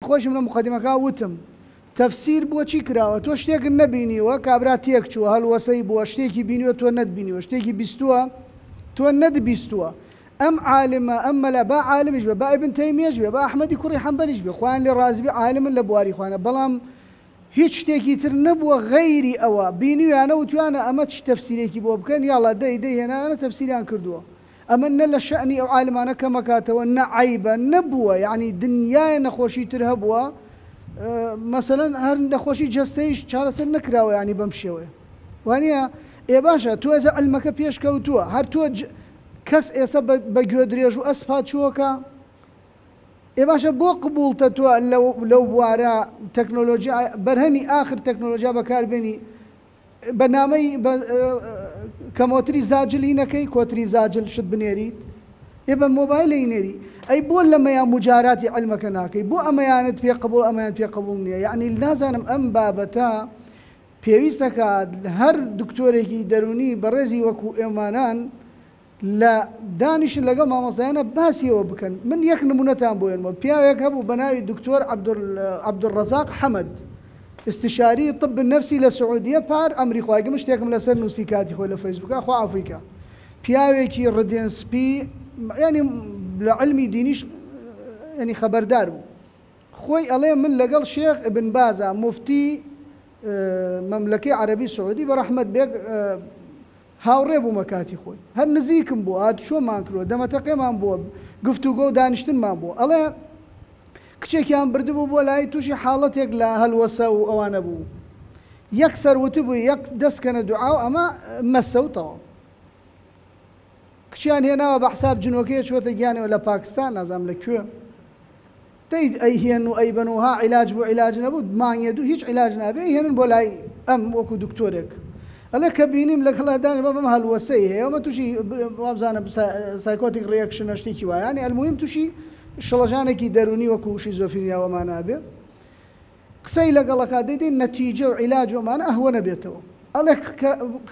خۆشم لە موقەدیمەکە وتم تەفسیر بۆ چی کراوە تۆ شتێکت نەبینیوە کابرا تێک چووە هەلوەسەی بووە شتێکی بینیوە تۆ نەتبینیوە شتێکی بیستووە تۆ نەتبیستووە ئەم عالمە ئەم مەلا با عالمیش بێ با ئیبن تەیمیەش بێ با ئەحمەدی کوڕی حەنبەلیش بێ خوایان لێ ڕازی بێ عالمن لە بواری خۆیانە بەڵام هیچ شتێکی تر نەبووە غەیری ئەوە بینیویانە وتویانە ئەمە چ تەفسیرێکی بۆ بکەن یاڵا دەی دەی هێنایانە تەفسیریان کردووە ئەمە نە لە شەئنی ئەو عالمانە کەمەکاتەوە نە عەیبە نەبووە یەعنی دنیایە نەخۆشی تر هەبووە مەسەلەن هەر نەخۆشی جەستەیش چارەسەر نەکراوە یەعنی بەم شێوەیە وانیە ئێ باشە تۆ ئێستا علمەکە پێش کەوتووە هەر تۆ کەس ئێستا بە گوێ درێژ و ئەسپ هاتچووەکە ئێ باشە بۆ قبوڵتە تۆ لەو بوارە تەکنۆلۆژیا بەرهەمی ئاخر تەکنۆلۆژیا بەکاربێنی بە نامەی بە کەمۆتری زاجل ی نەکەی کۆتری زاجل شت بنێریت ئێ بە مۆبایل ی نێری ئەی بۆ لەمەیا موجاراتی عیلمەکە ناکەی بۆ ئەمەیانت پێ قبوڵ ئەمەیان پێ قبوڵ نییە یەعنی نازانم ئەم بابەتە پێویستەکات هەر دکتۆرێکی دەرونی بەڕێزی وەکو ئێمانان لە دانیشن لەگەڵ مامۆستایانە باسی ئەوە بکەن من یەک نمونەتان بۆ ێنمەوە پیاوێک هەبوو بە ناوی دکتۆر عەبدولڕەزاق حەمەد استشاری طب نفسی لە سعودیە پار ئەمری خوای گم شتێکم لەسەر نووسی کاتی خۆی لە فەیسبووکا خوا عەفوی کا پیاوێکی ڕدێن سپی یعنی لە علمی دینیش یعنی خەبەردار بوو خۆی ئەڵێ من لەگەڵ شێخ ابن بازا موفتی مەملەکەی عەرەبی سعودی بە ڕەحمەت بێ هاوڕێ بوومە کاتی خۆی هەر نزیکم بوو هاتوچۆمان کردووە دەمەتەقێمان بووە گفتوگۆ و دانیشتنمان بووە ئەڵێ کچێکیان بردبوو بۆ لای تووشی حاڵەتێک لە هەلوەسە و ئەوانە بوو یەکسەر وتبووی یەک دەستکەنە دوعا و ئەمە مەسە و تەواو کچیان هێناوە بە حساب جنۆکەیە چووەتە گیانەوە لە پاکستان نازانم لە کوێ دەی ئەیهێن و ئەیبەن و ها عیلاج بوو عیلاج نەبوو مانگێ دوو هیچ عیلاج نابێ ئەیهێنن بۆ لای ئەم وەکو دکتۆرێک ئەڵێ کە بینیم لەگەڵا دانیش بابم هەلوەسەی هەیە ئەمە تووشی وابزانم psychotic reaction ە شتێکی وایە یانی ئەلموهیم تووشی شڵەژانێکی دەروونی وەکو شیزۆفرینیا و ئەمانە ئەبێ قسەی لەگەڵەکە دەی دەی نەتیجە و عیلاج و ئەمانە ئەهوە نەبێتەوە ئەڵێ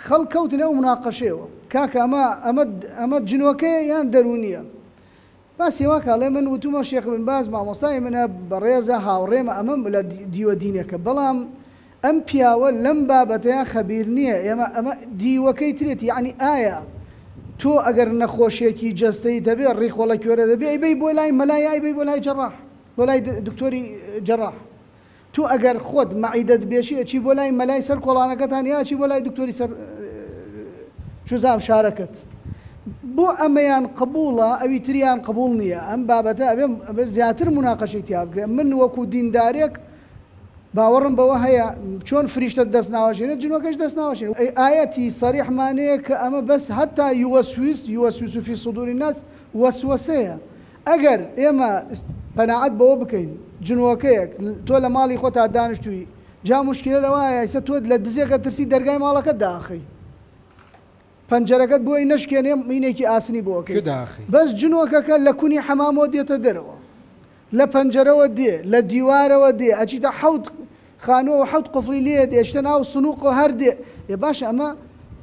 خەڵک کەوتنە ئەو مناقەشەیەوە کاکە ئەمە ئەمە ئەمە جنۆکەیە یان دەروونیە باسی وا کە ئەڵێ من وتومە شێخ بن باز مامۆستای منە بەڕێزە هاوڕێمە ئەمەم لە دیوە دینەکە بەڵام ئەم پیاوە لەم بابەتەیا خەبیر نییە ئێمە ئەمە دیوەکەی ترێتی یەعنی ئایا تۆ ئەگەر نەخۆشیەکی جەستەیت هەبێ ڕیخۆڵە کوێرە دەبێ ئەیبەی بۆ لای مەلا یا ئەیبەی بۆ لای جەڕاح بۆ لای دکتۆری جەڕاح تۆ ئەگەر خۆت مەعیدەت بێشی ئەچی بۆ لای مەلای سەر کۆڵانەکەتان یا ئەچی بۆ لای دکتۆری سەر چوزام شارەکەت بۆ ئەمەیان قبوڵە ئەوی تریان قبوڵ نییە ئەم بابەتە ئەبێ زیاتر مناقەشەی تیا بکرێت من وەکو دیندارێک باوەڕم بەوە هەیە چۆن فریشتە دەست ناوەشێنێت جنۆکەش دەست ناوەشێنێت ئایەتی سەریحمانەیە کە ئەمە بەس هەتا یوەسویس یوەسویس فی صدور الناس وەسوەسەیە ئەگەر ئێمە قەناعەت بەوە بکەین جنۆکەیەک تۆ لە ماڵی خۆتا دانیشتووی جا موشکیلە لەوایە ئیستا تۆ لە دزێک ئەترسی دەرگای ماڵەکەت داخەی پەنجەرەکەت بۆی نەشکێنێ مینێکی ئاسنی بۆ ئەکەی بەس جنۆکەکە لە کونی حەمامەوە دێتە دەرەوە لە پەنجەرەوە دێ لە دیوارەوە دێ ئەچیتە حەوت خانووەوە حەوت قفڵی لێ دێ ئەچیتە ناو سنووقەوە هەر دێ ئێ باشە ئەمە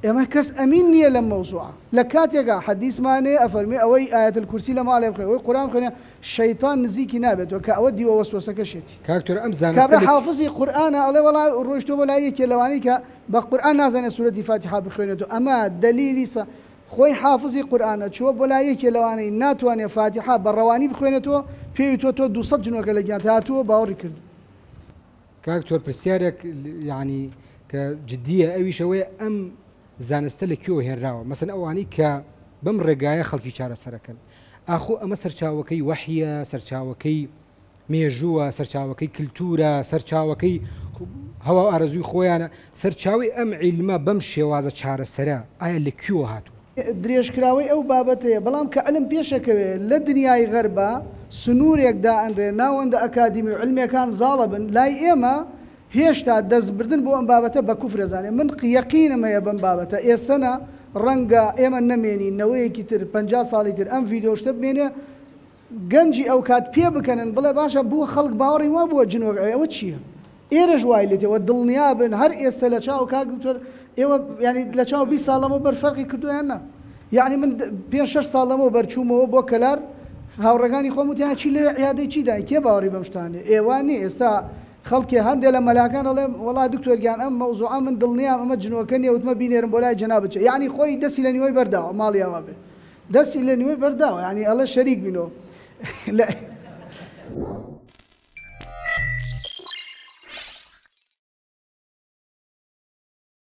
ئێمە کەس ئەمین نییە لەم مەوزوعە لە کاتێکا حەدیسمان هەیە ئەفەرموێ ئەوەی ئایەت الکرسی لە ماڵێ بخوێنێ ئەوەی قورئان بخوێنێ شەیتان نزیکی نابێتەوە کە ئەوە دیوە وەسوەسەکەشێتی. کاک تۆر ئەم زانستە کابرا لە حافزی قورئانە ئەڵێ وەڵا ڕۆیشتووە بۆ لای یەکێ لەوانەی کە بە قورئان نازانێ سورەتی فاتیحا بخوێنێتەوە ئەمە دەلیلی سە خۆی حافزی قورئانە چووە بۆ لای یەکێ لەوانەی ناتوانێ فاتیحا بە ڕەوانی بخوێنێتەوە پێی وتووە تۆ 200 جنۆکە لە گیانت هاتووە باوەڕی کردووە. کاک تۆر پرسیارێک یعنی کە جدیە ئەویش ئەوەیە ئەم زانستە لە کوێوە هێنراوە مەسەن ئەوانەی کە بەم ڕێگایە خەڵکی چارەسەرەکەن ئاخۆ ئەمە سەرچاوەکەی وەحیە سەرچاوەکەی مێژووە سەرچاوەکەی کللتورە سەرچاوەکەی هەوا ئارەزووی خۆیانە سەرچاوی ئەم عیلمە بەم شێوازە چارەسەرە ئایا لە کوێوە هاتووە؟ درێژکراوەی ئەو بابەتەیە، بەڵام کە علم پێشەکەوێ لە دنیای غەربا سنوورێک دائەنرێ ناوەندە ئەکادیمی و علمیەکان زاڵەبن، لای ئێمە هێشتا دەستبردن بۆ ئەم بابەتە بە کوفر ئەزانێ، من یەقینم هەیە بەم بابەتە ئێستە نا ڕەنگە ئێمە نەمێنین نەوەیەکی تر 50 ساڵی تر ئەم ڤیدیۆ شتە بمێنێ گەنجی ئەوکات پێ بکەنن بڵێ باشە بۆ خەڵک باوەڕی وا بووە جنۆک ئەوێ ئەوە چییە ئێرەش وای لێ تێ دڵنیا بن هەر ئێستە لە چاو کاک دکتۆر ئێوە یانی لە چاو 20 ساڵ لەمەوبەر فەرقی کردووە یان نا یعنی من پێنج شەش ساڵ لەمەوبەر چوومەوە بۆ کەلار هاوڕێکانی خۆم وتیان چی لەوێ عیادەی چی دای کێ باوەڕی بەم شتانە ئێوە نیە ئێستا خەڵکێ هەندێ لە مەلاکان ئەڵێ وەڵا دکتۆر گیان ئەم مەوزوعە من دڵنیام ئەمە جنۆکە نیە وتمە بینێرم بۆ لای جەنابت چ یەعنی خۆی دەستی لە نیوەی بەرداوە ماڵی ئاوا بێ دەستی لە نیوەی بەرداوە یەعنی ئەڵێ شەریک بینەوە لە.